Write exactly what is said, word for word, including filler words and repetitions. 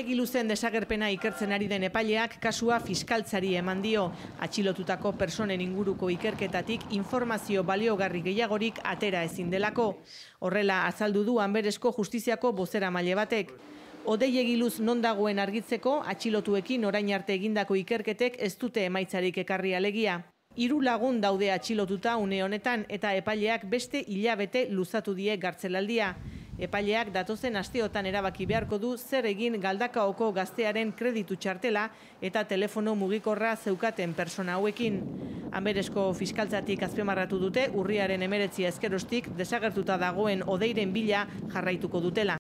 Egiluzen desagerpena ikertzen ari den epaileak kasua fiskaltzari eman dio. Atxilotutako personen inguruko ikerketatik informazio baliogarri gehiagorik atera ezin delako. Horrela azaldu du Anberesko Justiziako bozeramaile batek. Odei Egiluz non dagoen argitzeko, atxilotuekin orain arte egindako ikerketek ez dute emaitzarik ekarri alegia. Hiru lagun daude atxilotuta une honetan eta epaileak beste hilabete luzatu die gartzelaldia. Epaileak datozen asteotan erabaki beharko du zer egin Galdakaoko gaztearen kreditu txartela eta telefono mugikorra zeukaten persona hauekin. Anberesko fiskaltzatik azpimarratu dute urriaren hemeretzia ezkerostik desagertuta dagoen Odeiren bila jarraituko dutela.